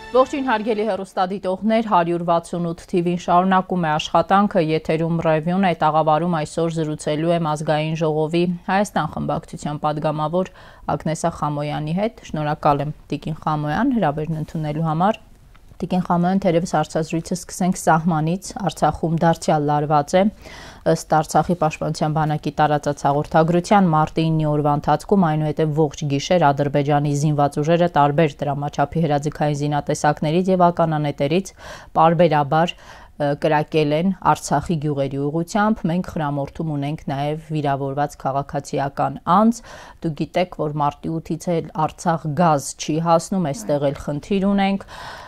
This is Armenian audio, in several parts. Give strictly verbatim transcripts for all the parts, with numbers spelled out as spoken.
Ողջույն հարգելի հեռուստադիտողներ, հարյուր վաթսունութ թիվին շարունակում է աշխատանքը, եթերում ռևյուն է, տաղավարում այսօր զրուցելու եմ ազգային ժողովի Հայաստան խմբակցության падգամավոր Ագնեսա Խամոյանի հետ։ Շնորհակալ եմ Տիկին Խամոյան հրավերն ընդունելու համար։ Տիկին Խամոյան, թերևս հարցազրույցը սկսենք սահմանից, Արցախում դարձյալ լարված է, ըստ Արցախի պաշտպանության բանակի տարածած հաղորդագրության մարտի ինը օրվա ընթացքում այնուհետև ողջ գիշեր Ադրբեջանի զինված ուժերը տարբեր դրամաչափի հրաձգային զինատեսակներից եւ ականանետերից պարբերաբար կրակել են Արցախի գյուղերի ուղղությամբ, մենք խրամորդում ունենք նաև վիրավորված քաղաքացիական անձ, դուք գիտեք, որ մարտի ութից էլ Արցախ գազ չի հասնում, այստեղ էլ խնդիր ունենք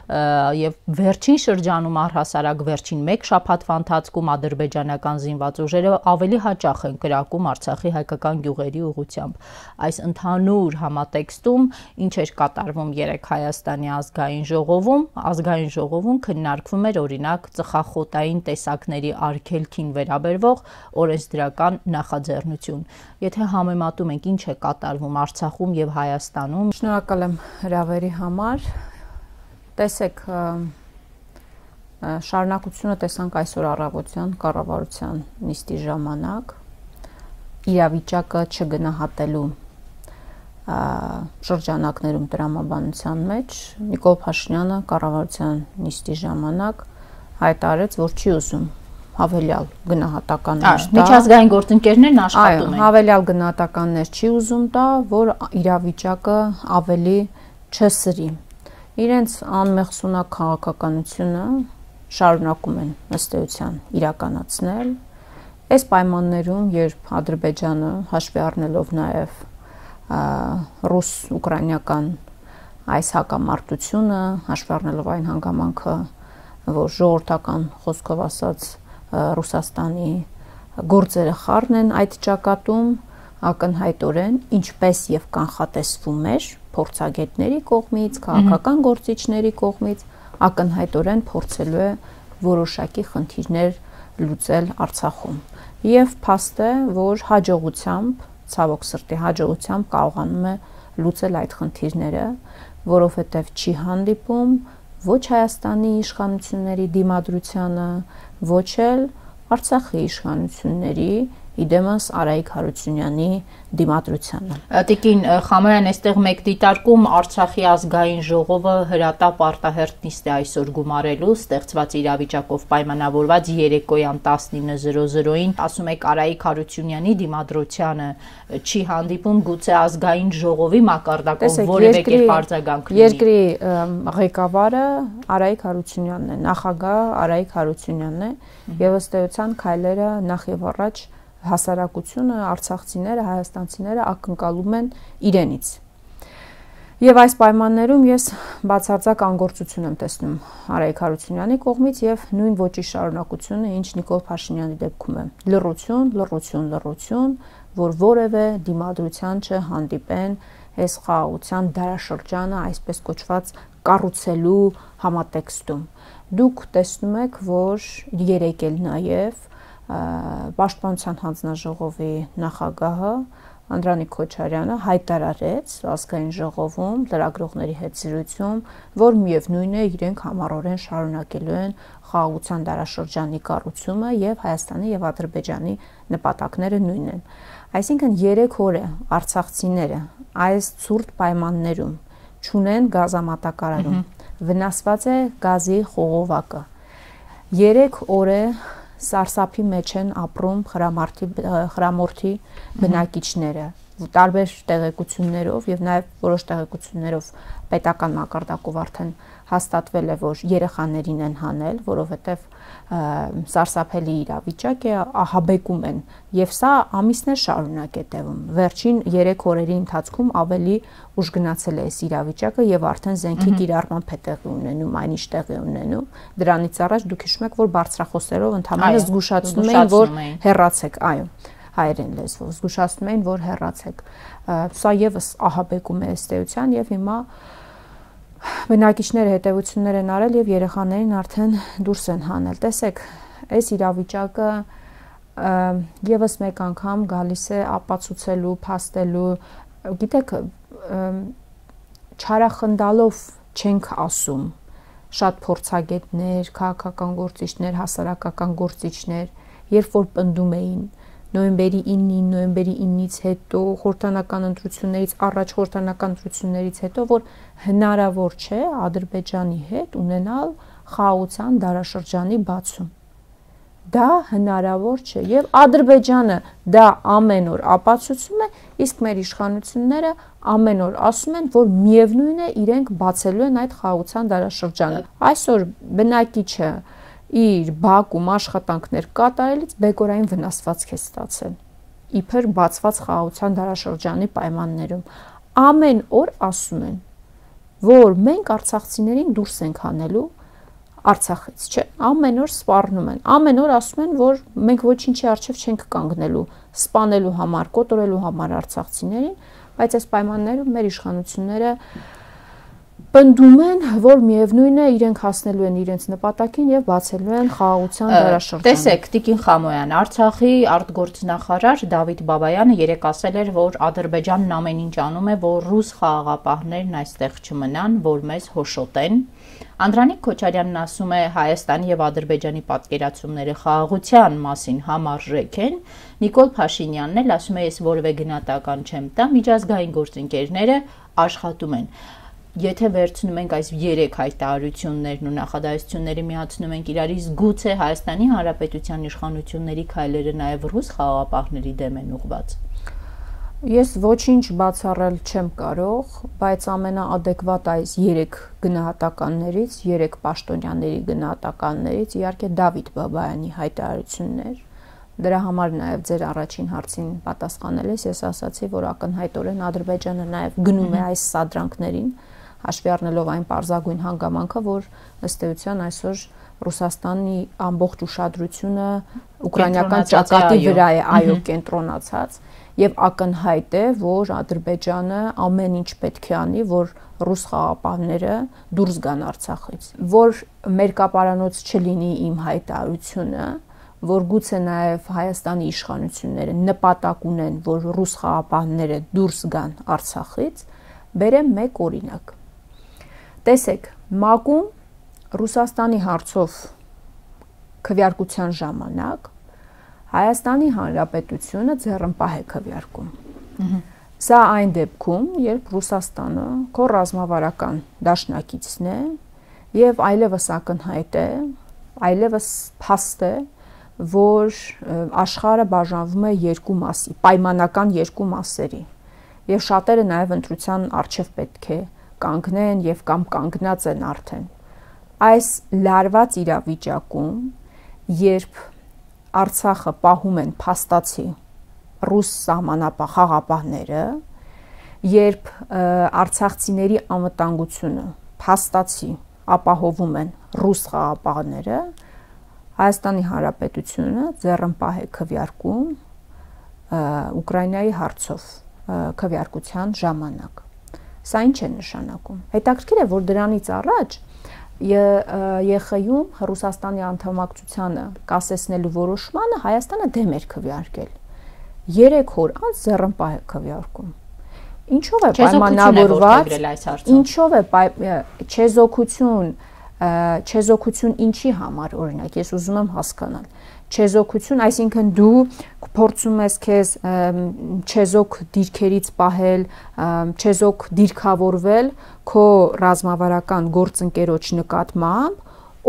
եւ վերջին շրջանում առհասարակ վերջին մեկ շաբաթվա ընթացքում ադրբեջանական զինված ուժերը ավելի հաճախ են կրակում Արցախի հայկական գյուղերի ուղղությամբ։ Այս ընդհանուր համատեքստում ինչ էր կատարվում երեք Հայաստանի ազգային ժողովում, ազգային ժողովում քննարկվում էր օրինակ ծխախոտային տեսակների արգելքին վերաբերվող օրենսդրական նախաձեռնություն։ Եթե համեմատում ենք ինչ է կատարվում Արցախում եւ Հայաստանում։ Շնորհակալ եմ հրավերի համար։ Տեսեք, շարունակությունը տեսանք այսօր առավոտյան կառավարության նիստի ժամանակ իրավիճակը չգնահատելու շրջանակներում տրամաբանության մեջ Նիկոլ Փաշինյանը կառավարության նիստի ժամանակ հայտարարեց, որ չի ուզում հավելյալ գնահատականներ տա։ Միջազգային գործընկերներն աշխատում են։ Հավելյալ գնահատականներ չի ուզում տա, որ իրավիճակը ավելի չսրի։ Իրենց անմեղսունակ քաղաքականությունը շարունակում են ըստ էության իրականացնել։ Այս պայմաններում, երբ Ադրբեջանը հաշվի առնելով նաև ռուս-ուկրաինական այս հակամարտությունը, հաշվի առնելով այն հանգամանքը, որ ժողովրդական խոսքով ասած Ռուսաստանի գործերը խառն են այդ ճակատում, ակնհայտորեն ինչպես եւ կանխատեսվում էր փորձագետների կողմից, քաղաքական գործիչների կողմից, ակնհայտորեն փորձելու է որոշակի խնդիրներ լուծել Արցախում։ Եվ փաստ է, որ հաջողությամբ, ցավոք սրտի հաջողությամբ կարողանում է լուծել այդ խնդիրները, որովհետև չի հանդիպում ոչ Հայաստանի իշխանությունների դիմադրությանը, ոչ էլ Արցախի իշխանությունների իդեմս Արայիկ Հարությունյանի դիմադրությանը։ Տիկին Խամոյան, այստեղ մեկ դիտարկում Արցախի ազգային ժողովը հրատապ արտահերթ նիստ է այսօր գումարելու, ստեղծված իրավիճակով պայմանավորված երեկոյան տասնինը զրո զրոին, ասում եք Արայիկ Հարությունյանի դիմադրությանը չի հանդիպում, գուցե ազգային ժողովի մակարդակով որևէ կերպ արձագանք լինի։ Երկրի ղեկավարը Արայիկ Հարությունյանն է, նախագահ Արայիկ Հարությունյանն է, եւ ըստ էության քայլերը նախ եւ առաջ հասարակությունը, արցախցիները, հայաստանցիները ակնկալում են իրենից։ Եվ այս պայմաններում ես բացարձակ անգործություն եմ տեսնում Արայիկ Հարությունյանի կողմից եւ նույն ոճի շարունակությունը, ինչ Նիկոլ Փաշինյանի դեպքում է։ Լռություն, լռություն, լռություն, որ որևէ դիմադրության չհանդիպեն այս խաղաղության դարաշրջանը այսպես կոչված կառուցելու համատեքստում։ Դուք տեսնում եք, որ երեք էլ նաեւ Պաշտպանության հանձնաժողովի նախագահը Անդրանիկ Քոչարյանը հայտարարեց ազգային ժողովում լրագրողների հետ զրույցում, որ միևնույն է իրենք համառորեն շարունակելու են խաղաղության դարաշրջանի կառուցումը եւ Հայաստանի եւ Ադրբեջանի նպատակները նույնն են։ Այսինքն երեք օր է արցախցիները այս ցուրտ պայմաններում չունեն գազամատակարարում, վնասված է գազի խողովակը։ երեք օր է սարսափի մեջ են ապրում խրամորդի բնակիչները, տարբեր տեղեկություններով եւ նաեւ որոշ տեղեկություններով պետական մակարդակով արդեն հաստատվել է, որ երեխաներին են հանել, որովհետեւ սարսափելի իրավիճակ է, ահաբեկում են եւ սա ամիսներ շարունակ է տևում։ Վերջին երեք օրերի ընթացքում ավելի ուժ գնացել է այս իրավիճակը եւ արդեն զենքի կիրառմամբ է տեղի ունենում, այնիշ տեղի ունենում։ Դրանից առաջ դուք հիշում եք, որ բարձրախոսերով ընդհանրապես զգուշացնում էին, որ հեռացեք, այո, հայերեն լեզվով զգուշացնում էին, որ հեռացեք։ Սա եւս ահաբեկում է ըստ էության եւ հիմա բնակիչները հետևություններ են արել եւ երեխաներին արդեն դուրս են հանել։ Տեսեք, այս իրավիճակը եւս մեկ անգամ գալիս է ապացուցելու, փաստելու, գիտեք, չարախնդալով չենք ասում, շատ փորձագետներ, քաղաքական գործիչներ, հասարակական գործիչներ, երբ որ պնդում էին նոյեմբերի ինին, նոյեմբերի ինից հետո, խորհրդանական ընտրություններից առաջ, խորհրդանական ընտրություններից հետո, որ հնարավոր չէ Ադրբեջանի հետ ունենալ խաղաղության դարաշրջանի բացում։ Դա հնարավոր չէ եւ Ադրբեջանը դա ամեն օր ապացուցում է, իսկ մեր իշխանությունները ամեն օր ասում են, որ միևնույն է իրենք բացելու են այդ խաղաղության դարաշրջանը։ Այսօր բնակիչը իր Բաքվում աշխատանքներ կատարելից բեկորային վնասվածք է ստացել։ Իբր բացված խաղաղության դարաշրջանի պայմաններում ամեն օր ասում են, որ մենք արցախցիներին դուրս ենք հանելու Արցախից, չէ, ամեն օր սպառնում են, ամեն օր ասում են, որ մենք ոչինչի առջև չենք կանգնելու, սպանելու համար, կոտորելու համար արցախցիներին, բայց այս պայմաններում մեր իշխանությունները պնդում են, որ միևնույն է իրենք հասնելու են իրենց նպատակին եւ բացելու են խաղաղության դարաշրջանը։ Տեսեք, Տիկին Խամոյան, Արցախի արտգործնախարար Դավիթ Բաբայանը երեկ ասել էր, որ Ադրբեջանն ամեն ինչ անում է, որ ռուս խաղաղապահներն այստեղ չմնան, որ մեզ հոշոտեն։ Անդրանիկ Քոչարյանն ասում է Հայաստանի եւ Ադրբեջանի պատկերացումները խաղաղության մասին համարժեք են։ Նիկոլ Փաշինյանն էլ ասում է, ես որևէ գնահատական չեմ տա, միջազգային գործընկերները աշխատում են։ Եթե վերցնում ենք այս երեք հայտարարություններն ու նախադասությունները միացնում ենք իրարից, գուցե Հայաստանի Հանրապետության իշխանությունների քայլերը նաև ռուս խաղաղապահների դեմ են ուղղված։ Ես ոչինչ բացառել չեմ կարող, բայց ամենաադեկվատ այս երեք գնահատականներից, երեք պաշտոնյաների գնահատականներից իհարկե Դավիթ Բաբայանի հայտարարություններ։ Դրա համար նաև ձեր առաջին հարցին պատասխանելիս ես ասացի, որ ակնհայտորեն Ադրբեջանը նաև գնում է այս սադրանքներին, հաշվի առնելով այն պարզագույն հանգամանքը, որ ըստ էության այսօր Ռուսաստանի ամբողջ ուշադրությունը ուկրաինական ճակատի վրա է, այո, կենտրոնացած, եւ ակնհայտ է, որ Ադրբեջանը ամեն ինչ պետք է անի, որ ռուս խաղաղապահները դուրս գան Արցախից, որ մերկապարանոց չլինի իմ հայտարարությունը, որ գուցե նաև Հայաստանի իշխանությունները նպատակ ունեն, որ ռուս խաղաղապահները դուրս գան Արցախից, բերեմ մեկ օրինակ։ Տեսեք, ՄԱԿ-ում Ռուսաստանի հարցով քվեարկության ժամանակ Հայաստանի Հանրապետությունը ձեռնպահ է քվեարկում։ Սա այն դեպքում, երբ Ռուսաստանը քո ռազմավարական դաշնակիցն է եւ այլևս ակնհայտ է, այլևս փաստ է, որ աշխարհը բաժանվում է երկու մասի, պայմանական երկու մասերի։ Եվ շատերը նաև ընտրության առջև պետք է կանգնեն եւ կամ կանգնած են արդեն։ Այս լարված իրավիճակում, երբ Արցախը պահում են փաստացի ռուս սահմանապահ խաղաղապահները, երբ արցախցիների անվտանգությունը փաստացի ապահովում են ռուս խաղաղապահները, Հայաստանի Հանրապետությունը ձեռնպահ է քվեարկում Ուկրաինայի հարցով քվեարկության ժամանակ։ Սա ինչ է նշանակում։ Հետաքրքիր է, որ դրանից առաջ ԵԽ-ում Ռուսաստանի անդամակցությանը կասեցնելու որոշմանը Հայաստանը դեմ էր քվեարկել։ երեք օր անց ձեռնպահ է քվեարկում։ Ինչով է պայմանավորված, ինչով է չեզոքություն, չեզոքություն ինչի համար, օրինակ, ես ուզում եմ հասկանալ։ Չեզոքություն, այսինքն դու փորձում ես քեզ չեզոք դիրքերից պահել, չեզոք դիրքավորվել քո ռազմավարական գործընկերոջ նկատմամբ,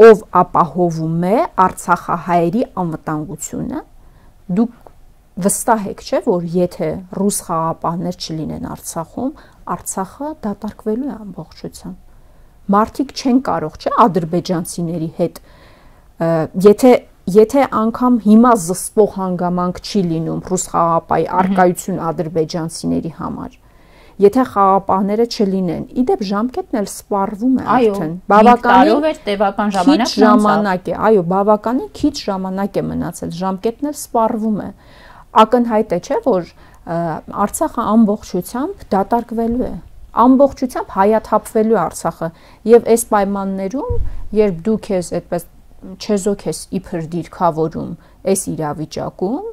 ով ապահովում է արցախահայերի անվտանգությունը, դուք վստահ եք, չէ, որ եթե ռուս խաղաղապահներ չլինեն Արցախում, Արցախը դատարկվելու է ամբողջությամբ։ Մարդիկ չեն կարող, չէ, ադրբեջանցիների հետ, եթե Եթե անգամ հիմա զսպող հանգամանք չի լինում ռուս խաղաղապահի առկայություն ադրբեջանցիների համար, եթե խաղաղապահները չլինեն, իդեպ ժամկետն էլ սպառվում է արդեն, բավականին տևական ժամանակ է, այո, բավականին քիչ ժամանակ է մնացել, ժամկետն էլ սպառվում է, ակնհայտ է, չէ, որ Արցախը ամբողջությամբ դատարկվելու է, ամբողջությամբ հայաթափվելու է Արցախը, եւ այս պայմաններում, երբ դու քեզ այդպես չեզոք ես իբր դիրքավորում այս իրավիճակում,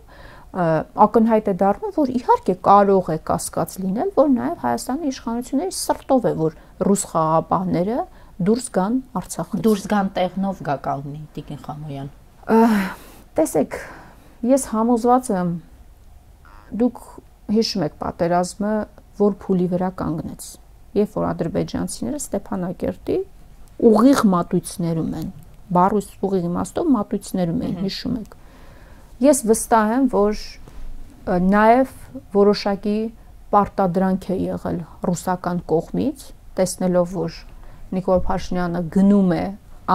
ակնհայտ է դառնում, որ իհարկե կարող է կասկած լինել, որ նաև Հայաստանի իշխանությունների սրտով է, որ ռուս խաղաղապահները դուրս գան Արցախից։ Դուրս գան տեղնով գա կանգնի Տիկին Խամոյան։ Տեսեք, ես համոզված եմ, դուք հիշում եք պատերազմը, որ փուլի վրա կանգնեց, երբ որ ադրբեջանցիները Ստեփանակերտի ուղիղ մատույցներում են, բառուս ուղիղ իմաստով մատույցներում են, հիշում եք։ Ես վստահ եմ, որ նաև որոշակի պարտադրանք է եղել ռուսական կողմից, տեսնելով, որ Նիկոլ Փաշինյանը գնում է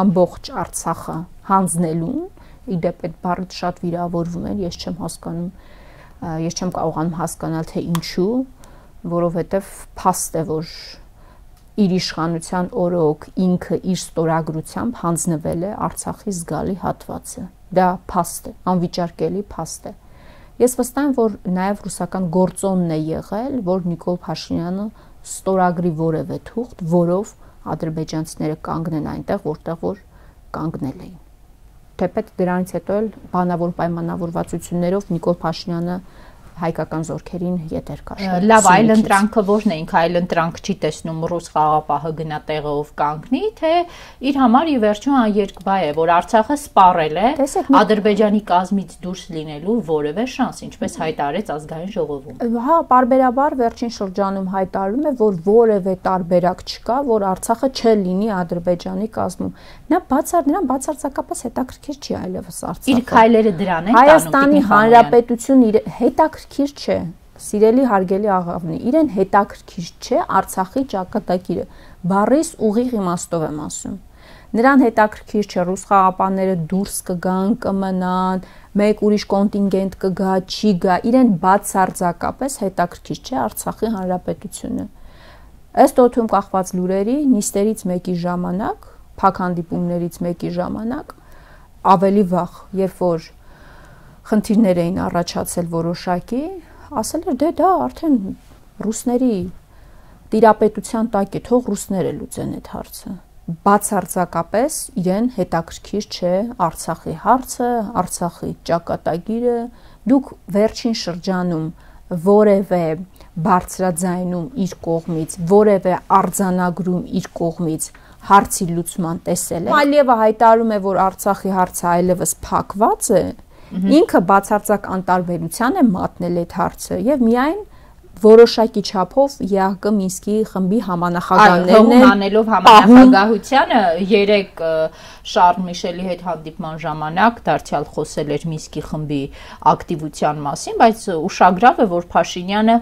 ամբողջ Արցախը հանձնելուն, իդեպ այդ բառը շատ վիրավորվում են, ես չեմ հասկանում, ես չեմ կարողանում հասկանալ, թե ինչու, որովհետև փաստ է, որ իր իշխանության օրոք ինքը իր ստորագրությամբ հանձնվել է Արցախի զգալի հատվածը։ Դա փաստ է, անվիճարկելի փաստ է։ Ես վստահ եմ, որ նաև ռուսական գործոնն է եղել, որ Նիկոլ Փաշինյանը ստորագրի որևէ թուղթ, որով ադրբեջանցիները կանգնեն այնտեղ, որտեղ որ կանգնել էին։ Թեպետ դրանից հետո էլ բանավոր պայմանավորվածություններով Նիկոլ Փաշինյանը հայկական զորքերին ետեր քաշել։ Լավ, այլ ընտրանքը ո՞րն է, ինքը այլ ընտրանք չի տեսնում ռուս խաղապահը գնա տեղով կանգնի, թե իր համար ի վերջո երկբայ է, որ Արցախը սպառել է Ադրբեջանի կազմից դուրս լինելու որևէ շանս, ինչպես հայտարարեց ազգային ժողովում։ Հա, պարբերաբար վերջին շրջանում հայտարարում է, որ որևէ տարբերակ չկա, որ Արցախը չլինի Ադրբեջանի կազմում։ Նա բացար, նրան բացարձակապես հետաքրքիր չի այլևս Արցախը։ Իր քայլերը դրան են տանում։ Հայաստանի Հանրապետություն իր հետաքրքիր չէ, սիրելի հարգելի աղավնի, իրեն հետաքրքիր չէ Արցախի ճակատագիրը, բառիս ուղիղ իմաստով եմ ասում։ Նրան հետաքրքիր չէ ռուս խաղապանները դուրս կգան, կմնան, մեկ ուրիշ կոնտինգենտ կգա, չի գա, իրեն բացարձակապես հետաքրքիր չէ Արցախի Հանրապետությունը։ Ըստ օդում կախված լուրերի, նիստերից մեկի ժամանակ, փակ հանդիպումներից մեկի ժամանակ, ավելի վաղ, երբ որ խնդիրներ էին առաջացել որոշակի, ասել էր, դե դա արդեն ռուսների տիրապետության տակ է, թող ռուսները լուծեն այդ հարցը։ Բացարձակապես իրեն հետաքրքիր չէ Արցախի հարցը, Արցախի ճակատագիրը, դուք վերջին շրջանում որևէ բարձրաձայնում իր կողմից, որևէ արձանագրում իր կողմից հարցի լուծման տեսել եք։ Ալիևը հայտարարում է, որ Արցախի հարցը այլևս փակված է, ինքը բացարձակ անտարբերության է մատնել այդ հարցը եւ միայն որոշակի չափով ԵԱՀԿ Մինսկի խմբի համանախագահներն են անելով համանախագահությանը երեք Շարլ Միշելի հետ հանդիպման ժամանակ դարձյալ խոսել էր Մինսկի խմբի ակտիվության մասին, բայց ուշագրավ է, որ Փաշինյանը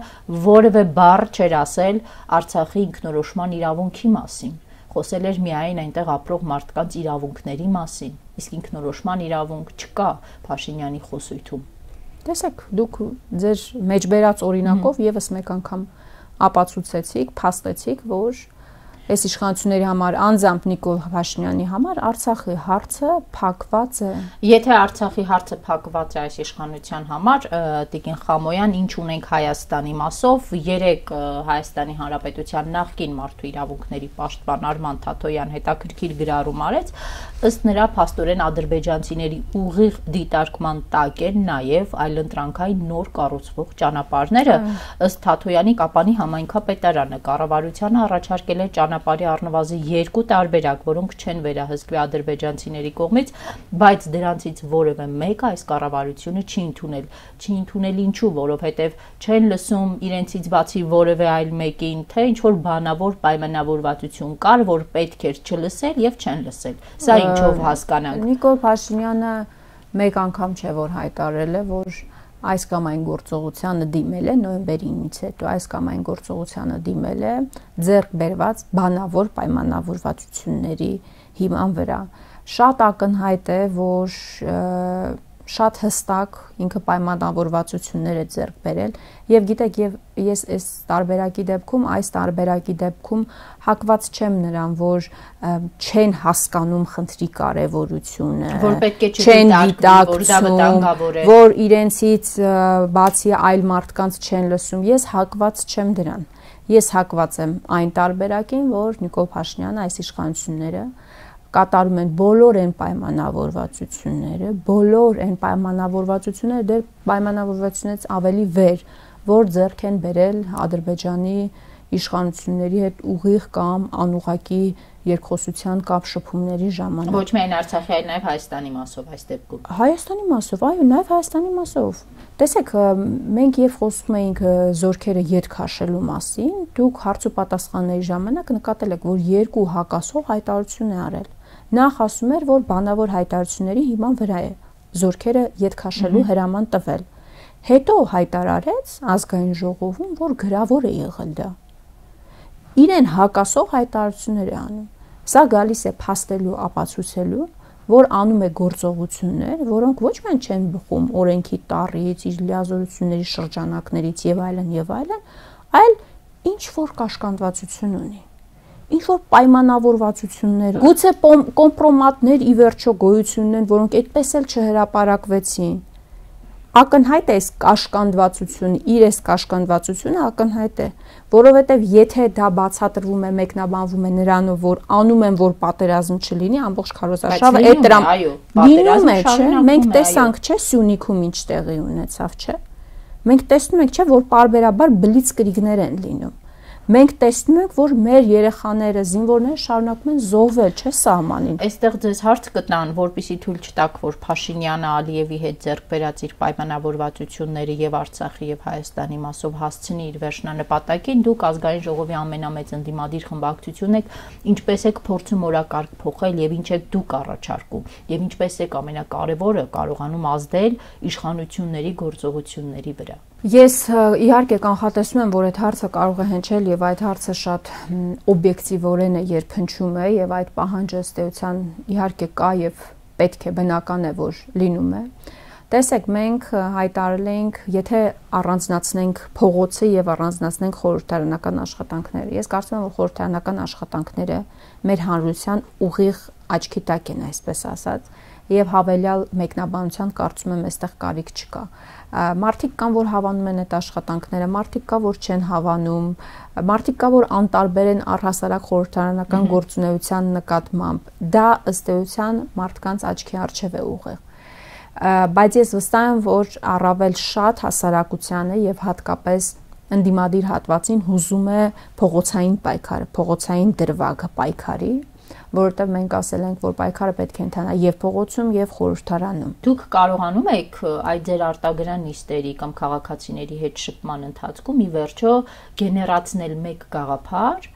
որևէ բառ չէր ասել Արցախի ինքնորոշման իրավունքի մասին։ Խոսել էր միայն այնտեղ ապրող մարդկանց իրավունքների մասին, իսկ ինքնորոշման իրավունք չկա Փաշինյանի խոսույթում։ Տեսեք, դուք ձեր մեջբերած օրինակով եւս մեկ անգամ ապացուցեցիք, փաստեցիք, որ այս իշխանությունների համար անձամբ Նիկոլ Փաշինյանի համար Արցախի հարցը փակված է։ Եթե Արցախի հարցը փակված է այս իշխանության համար, Տիկին Խամոյան, ինչ ունենք Հայաստանի մասով, երեք Հայաստանի Հանրապետության նախկին մարդու իրավունքների պաշտպան Արման Թաթոյան հետաքրքիր գրառում արեց, ըստ նրա փաստորեն ադրբեջանցիների ուղիղ դիտարկման տակ են նաև այլընտրանքային նոր կառուցվող ճանապարհները, ըստ Թաթոյանի Կապանի համայնքապետարանը կառավարությանը առաջարկել է ճանապարհի առնվազն երկու տարբերակ, որոնք չեն վերահսկվի ադրբեջանցիների կողմից, բայց դրանցից որևէ մեկը այս կառավարությունը չի ընդունել։ Չի ընդունել ինչու, որովհետև չեն լսում իրենցից բացի որևէ այլ մեկին, թե ինչ որ բանավոր պայմանավորվածություն կար, որ պետք էր չլսել եւ չեն լսել։ Սա ինչով հասկանանք։ Նիկոլ Փաշինյանը մեկ անգամ չէ որ հայտարարել է, որ այս կամ այն գործողությանը դիմել է նոյեմբերի ինից հետո, այս կամ այն գործողությանը դիմել է ձեռք բերված բանավոր պայմանավորվածությունների հիման վրա։ Շատ ակնհայտ է, որ շատ հստակ ինքը պայմանավորվածություններ է ձեռք բերել եւ գիտեք եւ ես այս տարբերակի դեպքում այս տարբերակի դեպքում հակված չեմ նրան, որ չեն հասկանում խնդրի կարեւորությունը, որ պետք է չդիտարկվի, որ դա վտանգավոր է, որ իրենցից բացի այլ մարդկանց չեն լսում, ես հակված չեմ դրան։ Ես հակված եմ այն տարբերակին, որ Նիկոլ Փաշինյանը այս իշխանությունները կատարում են բոլոր այն պայմանավորվածությունները, բոլոր այն պայմանավորվածությունները դեռ պայմանավորվածությունից ավելի վեր, որ ձեռք են բերել Ադրբեջանի իշխանությունների հետ ուղիղ կամ անուղղակի երկխոսության կամ շփումների ժամանակ։ Ոչ միայն Արցախի, այլ նաև Հայաստանի մասով այս դեպքում։ Հայաստանի մասով, այո, նաև Հայաստանի մասով։ Տեսեք, մենք երբ խոսում էինք զորքերը ետ քաշելու մասին, դուք հարց ու պատասխանների ժամանակ նկատել եք, որ երկու հակասող հայտարարություն է արել։ Նախ ասում էր, որ բանավոր հայտարարությունների հիման վրա է զորքերը ետ քաշելու հրաման տվել։ Հետո հայտարարեց ազգային ժողովում, որ գրավոր է եղել դա։ Իրեն հակասող հայտարարություններ է անում։ Սա գալիս է փաստելու, ապացուցելու, որ անում է գործողություններ, որոնք ոչ միայն չեն բխում օրենքի տառից, իր լիազորությունների շրջանակներից եւ այլն եւ այլն, այլ ինչ որ կաշկանդվածություն ունի։ Ինչ որ պայմանավորվածություններ, գուցե կոմպրոմատներ ի վերջո գոյություն ունեն, որոնք այդպես էլ չհրապարակվեցին։ Ակնհայտ է կաշկանդվածությունը, իր էս կաշկանդվածությունը ակնհայտ է, որովհետև եթե դա բացատրվում է, մեկնաբանվում է նրանով, որ անում են, որ պատերազմ չլինի, ամբողջ քարոզարշավը այդ դրամ լինում է, չէ՞, մենք տեսանք, չէ՞, Սյունիքում ինչ տեղի ունեցավ, չէ՞։ Մենք տեսնում ենք, չէ՞, որ պարբերաբար բլիցկրիգներ են լինում։ Մենք տեսնում ենք, որ մեր երեխաները, զինվորները շարունակում են զոհվել, չէ՞ սահմանին։ Այստեղ ձեզ հարց կտան, որպեսզի թույլ չտաք, որ Փաշինյանը Ալիևի հետ ձեռք բերած իր պայմանավորվածությունները եւ Արցախի եւ Հայաստանի մասով հասցնի իր վերջնանպատակին, դուք ազգային ժողովի ամենամեծ ընդդիմադիր խմբակցությունն եք, ինչպես եք փորձում օրակարգ փոխել եւ ինչ եք դուք առաջարկում եւ ինչպես եք ամենակարևորը կարողանում ազդել իշխանությունների գործողությունների վրա։ Ես իհարկե կանխատեսում եմ, որ այդ հարցը կարող է հնչել եւ այդ հարցը շատ օբյեկտիվորեն է երբ հնչում է եւ այդ պահանջը ըստ էության իհարկե կա եւ պետք է բնական է, որ լինում է։ Տեսեք, մենք հայտարարել ենք, եթե առանձնացնենք փողոցը եւ առանձնացնենք խորհրդարանական աշխատանքները։ Ես կարծում եմ, որ խորհրդարանական աշխատանքները մեր հանրության ուղիղ աչքի տակ են, այսպես ասած, եւ հավելյալ մեկնաբանության կարծում եմ այստեղ կարիք չկա։ Մարդիկ կան, որ հավանում են այդ աշխատանքները, մարդիկ կա, որ չեն հավանում, մարդիկ կա, որ անտարբեր են առհասարակ խորհրդարանական գործունեության նկատմամբ։ Դա ըստ էության մարդկանց աչքի առջև է ուղիղ։ Բայց ես վստահ եմ, որ առավել շատ հասարակությանը եւ հատկապես ընդդիմադիր հատվածին հուզում է փողոցային պայքարը, փողոցային դրվագը պայքարի, որովհետև մենք ասել ենք, որ պայքարը պետք է ընթանա եւ փողոցում եւ խորհրդարանում։ Դուք կարողանում եք այդ ձեր արտագրան նիստերի կամ քաղաքացիների հետ շփման ընթացքում ի վերջո գեներացնել մեկ գաղափար,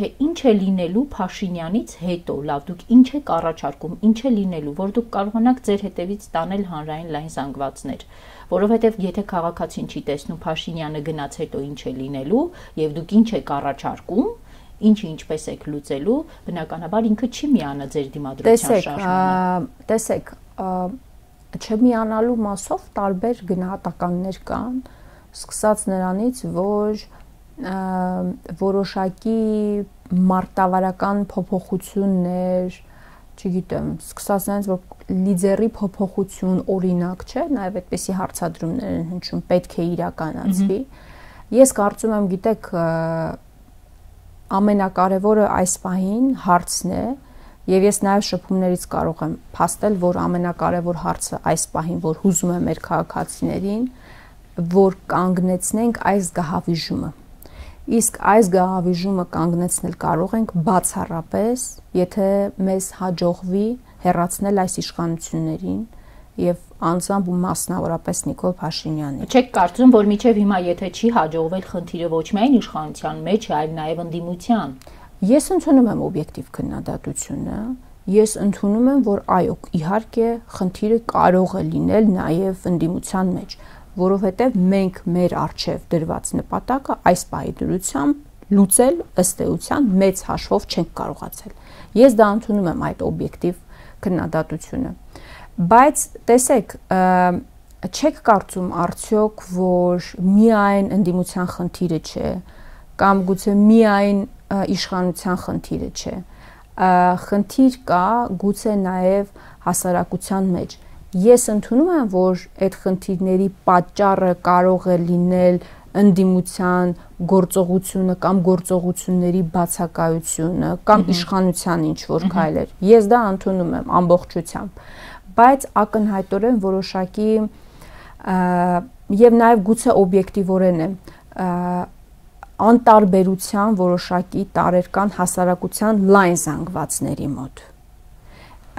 թե ինչ է լինելու Փաշինյանից հետո, լավ, դուք ինչ եք առաջարկում, ինչ է լինելու, որ դուք կարողանաք ձեր հետևից տանել հանրային լայն զանգվածներ, որովհետև եթե քաղաքացին չի տեսնում Փաշինյանը գնաց հետո ինչ է լինելու եւ դուք ինչ եք առաջարկում, ինչը ինչպես եք լուծելու, բնականաբար ինքը չի միանա ձեր դիմադրության շարժմանը։ Տեսեք, չմիանալու մասով տարբեր գնահատականներ կան, սկսած նրանից, որ որոշակի մարտավարական փոփոխություններ, չգիտեմ, սկսած նրանից, որ լիդերի փոփոխություն օրինակ չէ, նաև այդպիսի հարցադրումներ են հնչում, պետք է իրականացվի։ Ես կարծում եմ, գիտեք, ամենակարևորը այս պահին հարցն է, եւ ես նաեւ շփումներից կարող եմ փաստել, որ ամենակարևոր հարցը այս պահին, որ հուզում է մեր քաղաքացիներին, որ կանգնեցնենք այս գահավիժումը։ Իսկ այս գահավիժումը կանգնեցնել կարող ենք բացառապես, եթե մեզ հաջողվի հեռացնել այս իշխանություններին եւ անձամբ ու մասնավորապես Նիկոլ Փաշինյանին։ Չեք կարծում, որ մինչև հիմա եթե չի հաջողվել խնդիրը ոչ միայն իշխանության մեջ, այլ նաեւ ընդդիմության։ Ես ընդունում եմ օբյեկտիվ քննադատությունը, ես ընդունում եմ, որ այո, իհարկե խնդիրը կարող է լինել նաեւ ընդդիմության մեջ, որովհետեւ մենք մեր արժեվ դրված նպատակը այս պահի դրությամբ լուծել ըստ էության մեծ հաշվով չենք կարողացել։ Ես դա ընդունում եմ այդ օբյեկտիվ քննադատությունը։ Բայց տեսեք, չեք կարծում արդյոք, որ միայն ընդդիմության խնդիրը չէ, կամ գուցե միայն իշխանության խնդիրը չէ, խնդիր կա գուցե նաև հասարակության մեջ։ Ես ընդունում եմ, որ այդ խնդիրների պատճառը կարող է լինել ընդդիմության գործողությունը կամ գործողությունների բացակայությունը կամ իշխանության ինչ-որ քայլեր։ Ես դա ընդունում եմ ամբողջությամբ, բայց ակնհայտորեն որոշակի եւ նաեւ գուցե օբյեկտիվորեն է անտարբերության որոշակի տարեր կան հասարակության լայն զանգվածների մոտ։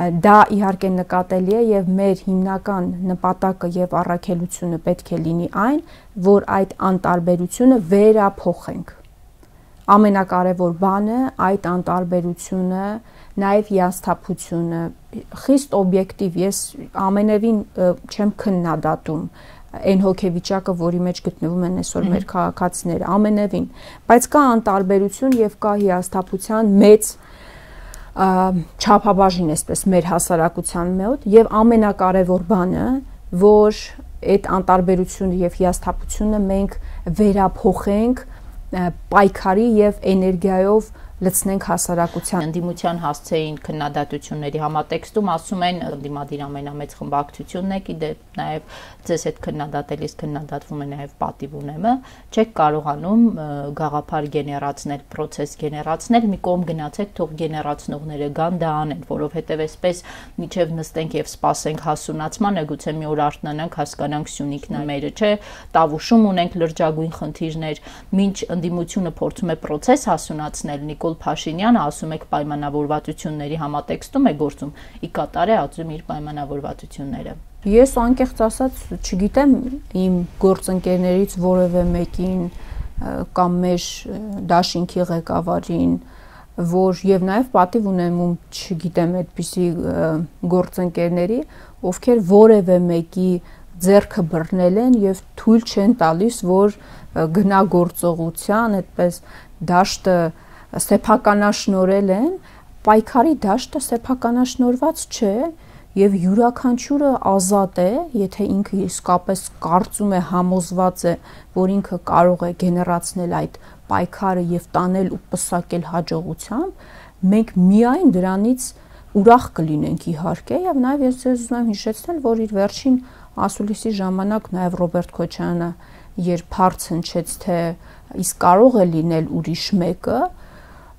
Դա իհարկե նկատելի է եւ մեր հիմնական նպատակը եւ առաքելությունը պետք է լինի այն, որ այդ անտարբերությունը վերափոխենք։ Ամենակարևոր բանը այդ անտարբերությունը, նաեւ հիասթափությունը, խիստ օբյեկտիվ, ես ամենևին չեմ քննադատում այն հոգեվիճակը, որի մեջ գտնվում են այսօր մեր քաղաքացիները, ամենևին, բայց կա անտարբերություն եւ կա հիասթափության մեծ չափաբաժին, այսպես մեր հասարակության մոտ, եւ ամենակարևոր բանը, որ այդ անտարբերությունը եւ հիասթափությունը մենք վերափոխենք պայքարի եւ էներգիայով լցնենք հասարակության։ Ընդդիմության հասցեին քննադատությունների համատեքստում ասում են ընդդիմադիր ամենամեծ խմբակցությունն է, գիտեք, նաև ձեզ հետ քննադատելիս քննադատվում է նաև պատիվ ունեմը, չեք կարողանում գաղափար գեներացնել, process գեներացնել, մի կողմ գնացեք, թող գեներացնողները գան դա անեն, որովհետև այսպես միջև նստենք եւ սպասենք հասունացմանը, գուցե մի օր արթնանանք, հասկանանք Սյունիքն է մերը, չէ, Տավուշում ունենք լրջագույն խնդիրներ, մինչ ընդդիմությունը փորձում է process հասունացնել, Նիկոլ Փաշինյանը ասում եք պայմանավորվածությունների համատեքստում է գործում, ի կատար է ածում իր պայմանավորվածությունները։ Ես անկեղծ ասած չգիտեմ իմ գործընկերներից որևէ մեկին կամ մեր դաշինքի ղեկավարին, որ եւ նաեւ պատիվ ունեմ ում չգիտեմ այդպիսի գործընկերների, ովքեր որևէ մեկի ձեռքը բռնել են եւ թույլ չեն տալիս, որ գնա գործողության, այդպես դաշտը սեփականաշնորել են, պայքարի դաշտը սեփականաշնորված չէ եւ յուրաքանչյուրը ազատ է, եթե ինքը իսկապես կարծում է, համոզված է, որ ինքը կարող է գեներացնել այդ պայքարը եւ տանել ու պսակել հաջողությամբ, մենք միայն դրանից ուրախ կլինենք իհարկե եւ նաեւ ես ձեզ ուզում եմ հիշեցնել, որ իր վերջին ասուլիսի ժամանակ նաեւ Ռոբերտ Քոչարյանը երբ հարց հնչեց, թե իսկ կարող է լինել ուրիշ մեկը,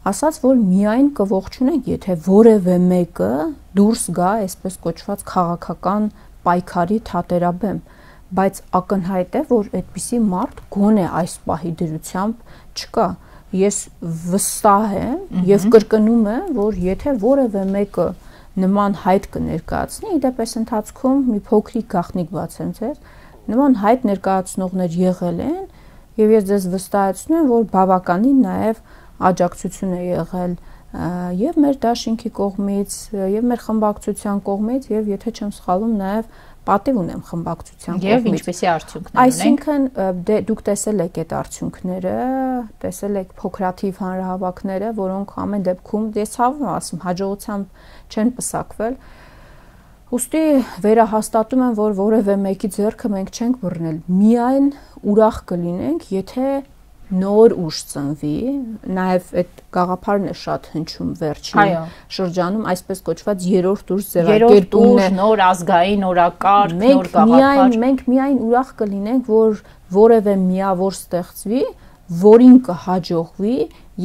ասաց, որ միայն կողջունենք, եթե որևէ մեկը դուրս գա, այսպես կոչված քաղաքական պայքարի թատերաբեմ, բայց ակնհայտ է, որ այդպիսի մարդ գոնե այս պահի դրությամբ չկա։ Ես վստահ եմ եւ կրկնում եմ, որ եթե որևէ մեկը նման հայտ կներկայացնի, իդեպս ընթացքում մի փոքրիկ գաղտնիք բացեմ ձեզ, նման հայտ ներկայացնողներ եղել են եւ ես ձեզ վստահեցնում եմ, որ բավականին նաեւ աջակցություն է եղել եւ մեր դաշինքի կողմից, եւ մեր խմբակցության կողմից, եւ եթե չեմ սխալվում, նաեւ պատիվ ունեմ խմբակցության կողմից։ Եվ ինչպեսի արդյունքներ ունենք։ Այսինքն դե, դուք տեսել եք այդ արդյունքները, տեսել եք փոքրաթիվ հանրահավաքները, որոնք ամեն դեպքում, ես ցավում եմ ասում, հաջողությամբ չեն պսակվել։ Ուստի վերահաստատում եմ, որ որևէ մեկի ձեռքը մենք չենք բռնել։ Միայն ուրախ կլինենք, եթե նոր ուժ ծնվի, նաև այդ գաղափարն է շատ հնչում վերջին շրջանում, այսպես կոչված երրորդ ուժ ձևակերպումն է, նոր ազգային օրակարգ, նոր գաղափար։ Մենք միայն ուրախ կլինենք, որ որևէ միավոր ստեղծվի, որին կհաջողվի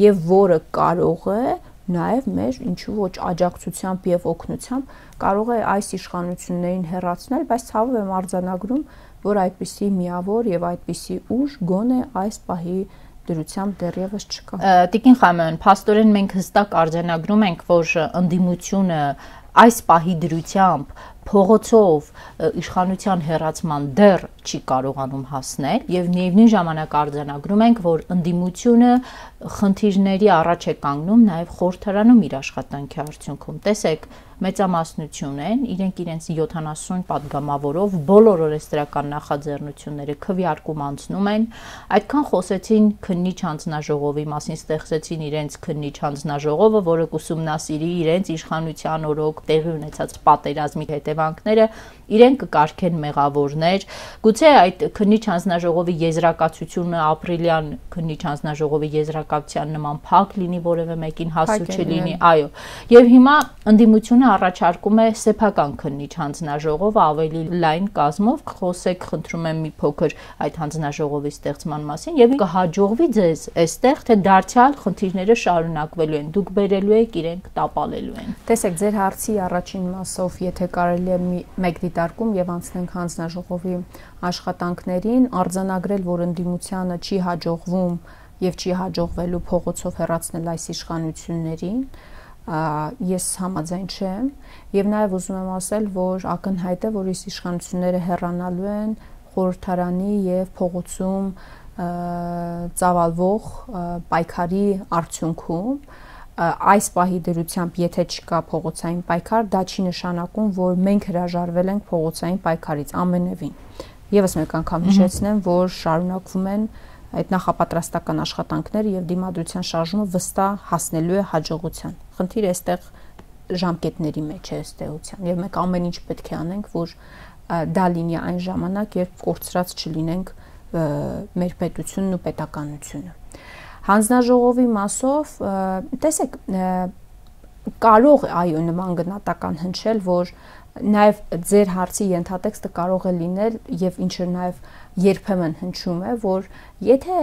եւ որը կարող է նաև մեր ինչու ոչ աջակցությամբ եւ օգնությամբ կարող է այս իշխանություններին հեռացնել, բայց ցավով եմ արձանագրում, որ այդպիսի միավոր եւ այդպիսի ուժ գոնե այս պահի դրությամբ դեռևս չկա։ Տիկին Խամանյան, փաստորեն մենք հստակ արձանագրում ենք, որ ընդդիմությունը այս պահի դրությամբ փողոցով իշխանության հեռացման դեռ չի կարողանում հասնել եւ միևնույն ժամանակ արձանագրում ենք, որ ընդդիմությունը խնդիրների առաջ է կանգնում նաեւ խորհրդարանում իր աշխատանքի արդյունքում։ Տեսեք, մեծամասնություն են, իրենք իրենց յոթանասուն падգամավորով բոլոր օրենսդրական նախաձեռնությունները քվեարկում անցնում են, այդքան խոսեցին քննիչ հանձնաժողովի մասին, ստեղծեցին իրենց քննիչ հանձնաժողովը, որը կուսումնասիրի իրենց իշխանության օրոք տեղի ունեցած պատերազմի հետևանքները, իրենք կկարգեն մեղավորներ, գուցե այդ քննիչ հանձնաժողովի եզրակացությունը ապրիլյան քննիչ հանձնաժողովի եզրակացության նման փակ լինի, որևէ մեկին հասու չլինի, այո, եւ հիմա ընդդիմությունը առաջարկում է սեփական քննիչ հանձնաժողով ավելի լայն կազմով, խոսեք, խնդրում եմ մի փոքր այդ հանձնաժողովի ստեղծման մասին եւ կհաջողվի ձեզ այստեղ, թե դարձյալ խնդիրները շարունակվելու են, դուք բերելու եք, իրենք տապալելու են։ Տեսեք, ձեր հարցի առաջին մասով, եթե կարելի է մեկ դիտարկում եւ անցնենք հանձնաժողովի աշխատանքներին, արձանագրել, որ ընդդիմությանը չի հաջողվում եւ չի հաջողվելու փողոցով հեռացնել այս իշխանություններին, ես համաձայն չեմ եւ նաեւ ուզում եմ ասել, որ ակնհայտ է, որ այս իշխանությունները հեռանալու են խորհրդարանի եւ փողոցում ծավալվող պայքարի արդյունքում այս պահի դրությամբ եթե չկա փողոցային պայքար, դա չի նշանակում, որ մենք հրաժարվել ենք փողոցային պայքարից ամենևին։ Եվս մեկ անգամ հիշեցնեմ, որ շարունակվում են այդ նախապատրաստական աշխատանքները եւ դիմադրության շարժումը վստահ հասնելու է հաջողության։ Խնդիրը այստեղ ժամկետների մեջ է ըստ էության եւ մենք ամեն ինչ պետք է անենք, որ դա լինի այն ժամանակ, երբ կորցրած չլինենք մեր պետությունն ու պետականությունը։ Հանձնաժողովի մասով, տեսեք, կարող է այո նման գնահատական հնչել, որ նաև ձեր հարցի ենթատեքստը կարող է լինել եւ ինչը նաև երբեմն հնչում է, որ եթե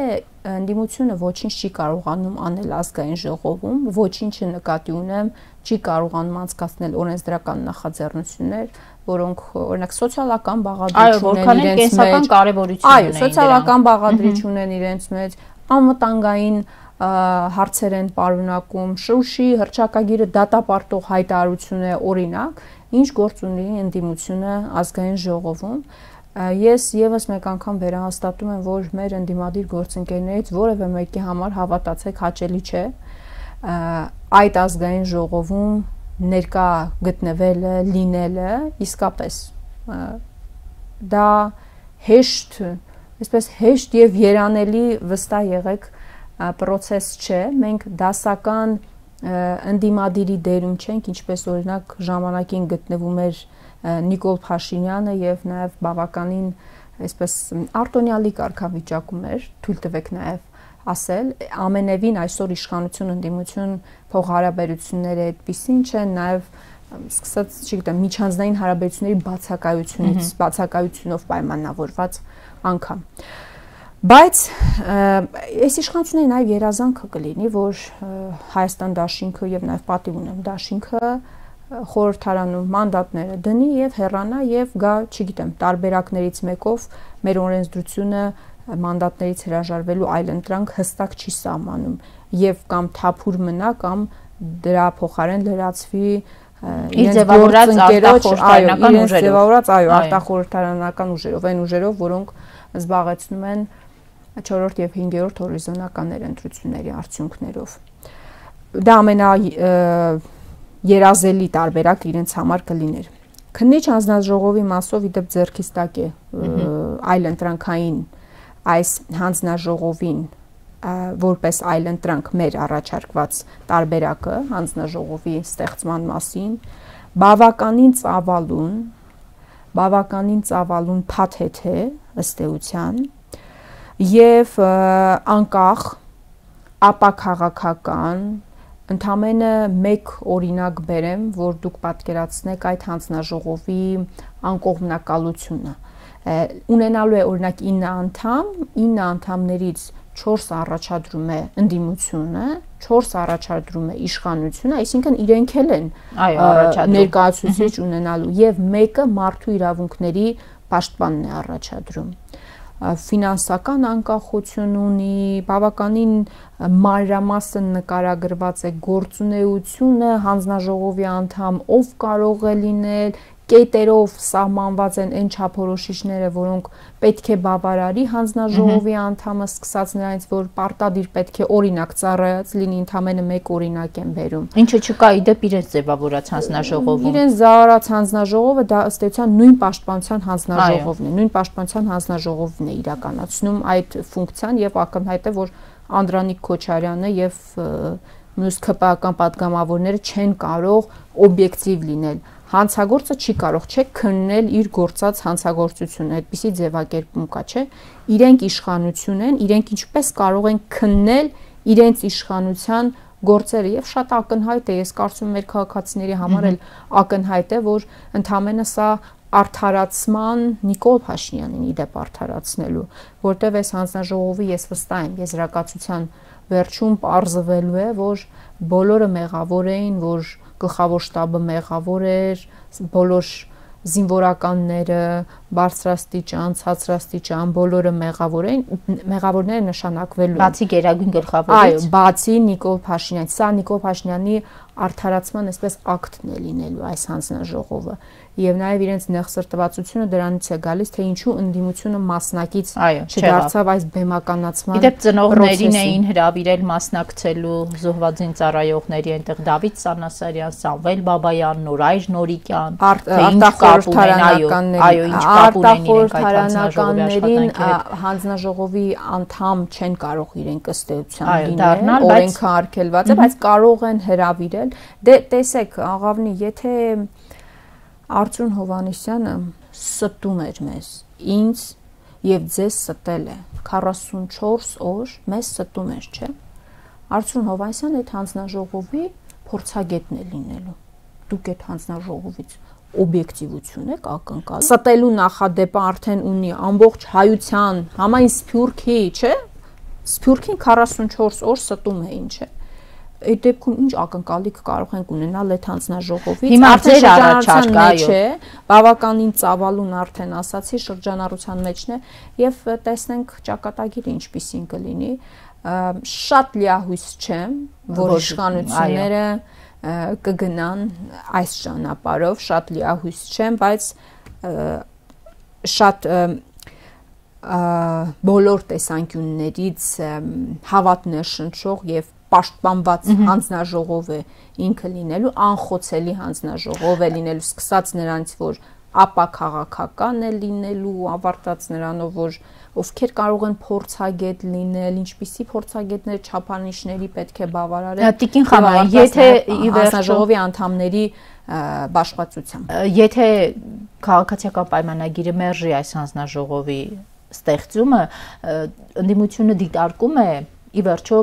ընդդիմությունը ոչինչ չի կարողանում անել ազգային ժողովում, ոչինչը նկատի ունեմ, չի կարողանում անցկացնել օրենսդրական նախաձեռնություններ, որոնք օրինակ սոցիալական բաղադրիչ ունեն իրենց մեջ, այո, սոցիալական բաղադրիչ ունեն իրենց մեջ, անվտանգային հարցեր են պարունակում, Շուշի հռչակագիրը դատապարտող հայտարարություն է օրինակ, ինչ գործ ունի ընդդիմությունը ազգային ժողովում։ Ես եւս մեկ անգամ վերահաստատում եմ, որ մեր ընդդիմադիր գործընկերներից որևէ մեկի համար հավատացեք հաճելի չէ այդ ազգային ժողովում ներկա գտնվելը, լինելը, իսկապես դա հեշտ, այսպես հեշտ եւ երանելի վստահ եղեք process չէ, մենք դասական ընդդիմադիրի դերում չենք, ինչպես օրինակ ժամանակին գտնվում էր Նիկոլ Փաշինյանը եւ նաեւ բավականին այսպես արտոնյալի կարգավիճակում էր, թույլ տվեք նաեւ ասել, ամենևին այսօր իշխանություն ընդդիմություն փոխհարաբերությունները այդպեսին չեն, նաեւ սկսած, չգիտեմ, միջանձնային հարաբերությունների բացակայությունից, բացակայությունով պայմանավորված անգամ։ Բայց այս իշխանությունների նաև երազանքը կլինի, որ Հայաստան դաշինքը եւ նաև պատիվ ունեմ դաշինքը խորհրդարանում մանդատները դնի եւ հեռանա եւ գա, չգիտեմ, տարբերակներից մեկով մեր օրենսդրությունը մանդատներից հրաժարվելու այլընտրանք հստակ չի սահմանում եւ կամ թափուր մնա կամ դրա փոխարեն լրացվի իր ձևավորած արտախորհրդարանական ուժերով, ձևավորած այո, արտախորհրդարանական ուժերով, այն ուժերով, որոնք զբաղեցնում են չորրորդ եւ հինգերորդ հորիզոնականներ ընտրությունների արդյունքներով։ Դա ամենա երազելի տարբերակ իրենց համար կլիներ։ Քննիչ հանձնաժողովի մասով իդեպ ձեռքից տակ է այլընտրանքային այս հանձնաժողովին որպես այլընտրանք մեր առաջարկված տարբերակը հանձնաժողովի ստեղծման մասին բավականին ծավալուն, բավականին ծավալուն փաթեթ է ըստ էության եւ անկախ ապաքաղաքական ընդամենը մեկ օրինակ բերեմ, որ դուք պատկերացնեք այդ հանձնաժողովի անկողմնակալությունը։ Ունենալու է օրինակ ինը անդամ, ինը անդամներից չորս առաջադրում է ընդդիմությունը, չորս առաջադրում է իշխանությունը, այսինքն իրենք էլ են ներկայացուցիչ ունենալու եւ մեկը մարդու իրավունքների պաշտպանն է առաջադրում։ Ֆինանսական անկախություն ունի, բավականին մանրամասն նկարագրված է գործունեությունը, հանձնաժողովի անդամ ով կարող է լինել, կետերով սահմանված են այն չափորոշիչները, որոնք պետք է բավարարի հանձնաժողովի անդամը, սկսած նրանից, որ պարտադիր պետք է օրինակ ծառայած լինի, ընդամենը մեկ օրինակ են բերում։ Ինչը չկա իդեպ իրենց ձևավորած հանձնաժողովում։ Իրենց ձևավորած հանձնաժողովը դա ըստ էության նույն պաշտպանության հանձնաժողովն է, նույն պաշտպանության հանձնաժողովն է իրականացնում այդ ֆունկցիան եւ ակնհայտ է, որ Անդրանիկ Քոչարյանը եւ մյուս ԿՊԱ-ական պատգամավորները չեն կարող օբյեկտիվ լինել։ Հանցագործը չի կարող չէ քննել իր գործած հանցագործությունը, այդպիսի ձևակերպում կա, չէ։ Իրենք իշխանություն են, իրենք ինչպես կարող են քննել իրենց իշխանության գործերը եւ շատ ակնհայտ է, ես կարծում եմ մեր քաղաքացիների համար էլ ակնհայտ է, որ ընդամենը սա արդարացման Նիկոլ Փաշինյանին իդեպ արդարացնելու, որտեղ այս հանձնաժողովի ես վստահ եմ եզրակացության վերջում պարզվելու է, որ բոլորը մեղավոր էին, որ գլխավոր շտաբը մեղավոր էր, բոլոր զինվորականները, բարձրաստիճան, ցածրաստիճան, բոլորը մեղավոր էին, մեղավորները նշանակվելու։ Բացի Գերագույն գլխավորից։ Այո, բացի Նիկոլ Փաշինյան, սա Նիկոլ Փաշինյանի արդարացման այսպես ակտն է լինելու այս հանձնաժողովը, եւ նաեւ իրենց նեղսրտվածությունը դրանից է գալիս, թե ինչու ընդդիմությունը մասնակից չդարձավ այս բեմականացման։ Իդեպ ծնողներին էին հրավիրել մասնակցելու զոհվածին ծառայողների, այնտեղ Դավիթ Սանասարյան, Սամվել Բաբայան, Նորայր Նորիկյան, արտախորհրդարանականների, արտախորհրդարանականներին հանձնաժողովի անդամ չեն կարող իրենք ըստեյության լինել, օրենքը արգելված է, բայց կարող են հրավիրել։ Դե տեսեք, աղավնի, եթե Արծրուն Հովհաննիսյանը ստում էր մեզ, ինձ եւ ձեզ ստել է քառասունչորս օր, մեզ ստում էր, չէ՞։ Արծրուն Հովհաննիսյանը այդ հանձնաժողովի փորձագետն է լինելու։ Դուք այդ հանձնաժողովից օբյեկտիվություն եք ակնկալում։ Ստելու նախադեպը արդեն ունի ամբողջ հայության համայն Սփյուռքի, չէ՞։ Սփյուռքին քառասունչորս օր ստում է, ինչ է։ Այդ դեպքում ինչ ակնկալիք կարող ենք ունենալ այդ հանձնաժողովից։ Արդեն շրջանառության մեջ է, բավականին ծավալուն արդեն ասացի, շրջանառության մեջն է եւ տեսնենք ճակատագիրը ինչպիսին կլինի։ Շատ լիահույս չեմ, որ իշխանությունները կգնան այս ճանապարհով, շատ լիահույս չեմ, բայց շատ բոլոր տեսանկյուններից հավատն է շնչող եւ պաշտպանված հանձնաժողով է ինքը լինելու, անխոցելի հանձնաժողով է լինելու, սկսած նրանից, որ ապա քաղաքական է լինելու, ավարտած նրանով, որ ովքեր կարող են փորձագետ լինել, ինչպիսի փորձագետներ չափանիշների պետք է բավարարել։ Տիկին Խաման, եթե ի վերջո հանձնաժողովի անդամների բաշխվածությամբ, եթե քաղաքացիական պայմանագիրը մերժի այս հանձնաժողովի ստեղծումը, ընդդիմությունը դիտարկում է ի վերջո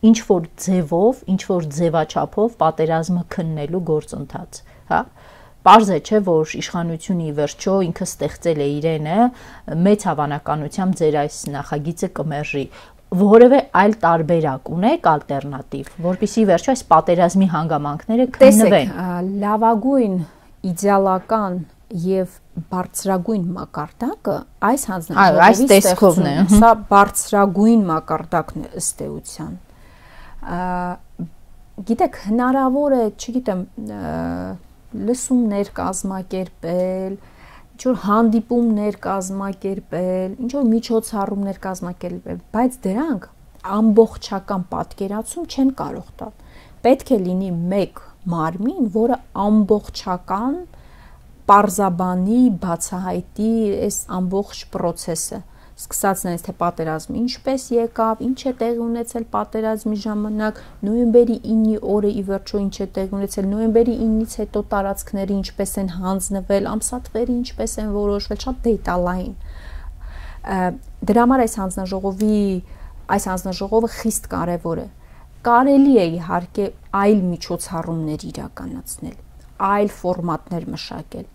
ինչ որ ձևով, ինչ որ ձևաչափով պատերազմը քննելու գործընթաց, հա։ Պարզ է, չէ, որ իշխանությունը ի վերջո ինքը ստեղծել է իրենը, մեծ հավանականությամբ ձեր այս նախագիծը կմերժի։ Որևէ այլ տարբերակ ունեք ալտերնատիվ, որպեսզի վերջո այս պատերազմի հանգամանքները քննվեն։ Տեսեք, լավագույն իդեալական եւ բարձրագույն մակարդակը այս հանձնաժողովի տեսքովն է։ Սա բարձրագույն մակարդակն է ըստ էության։ Գիտեք, հնարավոր է, չգիտեմ, լսումներ կազմակերպել, ինչ որ հանդիպումներ կազմակերպել, ինչ որ միջոցառումներ կազմակերպել, բայց դրանք ամբողջական պատկերացում չեն կարող տալ։ Պետք է լինի մեկ մարմին, որը ամբողջական պարզաբանի, բացահայտի այս ամբողջ process-ը, սկսած նրանից, թե պատերազմը ինչպես եկավ, ինչ է տեղի ունեցել պատերազմի ժամանակ, նոյեմբերի ինը օրը ի վերջո ինչ է տեղի ունեցել, նոյեմբերի ինից հետո տարածքները ինչպես են հանձնվել, ամսաթվերը ինչպես են որոշվել, շատ դետալային։ Դրա համար այս հանձնաժողովի, այս հանձնաժողովը խիստ կարևոր է։ Կարելի է իհարկե այլ միջոցառումներ իրականացնել, այլ ֆորմատներ մշակել,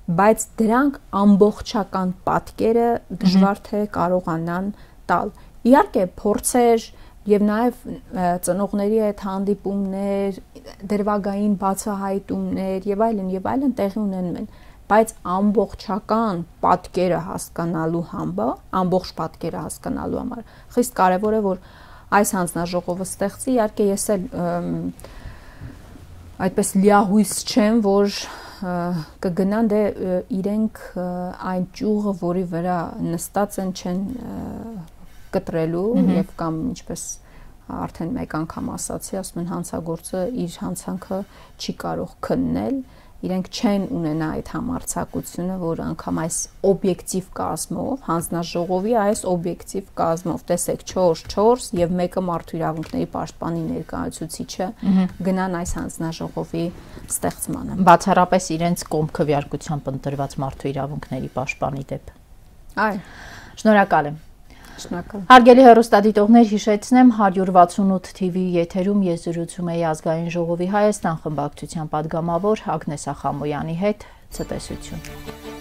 բայց դրանք ամբողջական պատկերը դժվար թե կարողանան տալ։ Իհարկե փորձեր եւ նաեւ ծնողների հետ հանդիպումներ, դրվագային բացահայտումներ եւ այլն եւ այլն տեղի ունենում են, բայց ամբողջական պատկերը հասկանալու համար, ամբողջ պատկերը հասկանալու համար խիստ կարեւոր է, որ այս հանձնաժողովը ստեղծի, իհարկե ես էլ այդպես լիահույս չեմ, որ կգնան, դե իրենք այն ճյուղը, որի վրա նստած են, չեն կտրելու եւ կամ ինչպես արդեն մեկ անգամ ասացի, ասում են հանցագործը իր հանցանքը չի կարող քննել, իրենք չեն ունենա այդ համարձակությունը, որ անգամ այս օբյեկտիվ կազմով, հանձնաժողովի այս օբյեկտիվ կազմով, տեսեք չորս չորս եւ մեկը մարդու իրավունքների պաշտպանի ներկայացուցիչը գնան այս հանձնաժողովի ստեղծմանը։ Բացառապես իրենց կողմ քվեարկությամբ ընտրված մարդու իրավունքների պաշտպանի դեպ։ Այո։ Շնորհակալ եմ։ Շնորհակալ։ Հարգելի հեռուստադիտողներ, հիշեցնեմ հարյուր վաթսունութ թիվի եթերում ես զրուցում էի Ազգային ժողովի Հայաստան խմբակցության պատգամավոր Ագնես Ախամոյանի հետ։ Ցտեսություն։